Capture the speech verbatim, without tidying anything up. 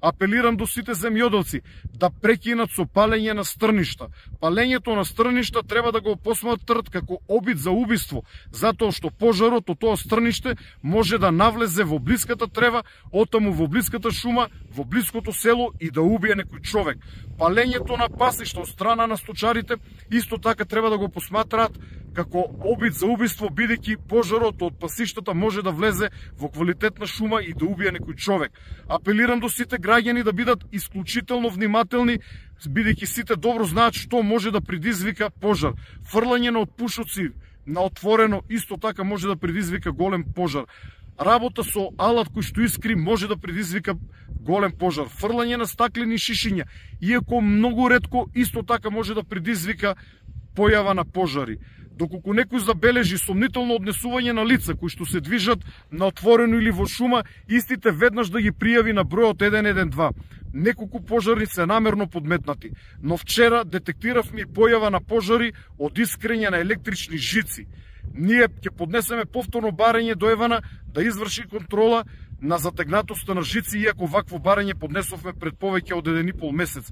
Апелирам до сите земјоделци да прекинат со палење на стрништа. Палењето на стрништа треба да го посматрат како обид за убиство, затоа што пожарот од тоа стрниште може да навлезе во блиската трева, оттаму во блиската шума, во блиското село и да убие некој човек. Палењето на пасишта од страна на сточарите исто така треба да го посматраат како обид за убиство, бидејќи пожарот од пасиштата може да влезе во квалитетна шума и да убие некој човек. Апелирам до сите граѓани да бидат исклучително внимателни, бидејќи сите добро знаат што може да предизвика пожар. Фрлање на отпушоци на отворено исто така може да предизвика голем пожар. Работа со алат кој што искри може да предизвика голем пожар. Фрлање на стаклени шишиња, иако многу ретко, исто така може да предизвика појава на пожари. Доколку некој забележи сомнително однесување на лица кои што се движат на отворено или во шума, истите веднаш да ги пријави на бројот еден еден два. Неколку пожари се намерно подметнати, но вчера детектиравме појава на пожари од искрење на електрични жици. Ние ќе поднесеме повторно барање до Евана да изврши контрола на затегнатоста на жици, иако вакво барање поднесовме пред повеќе од еден и пол месец.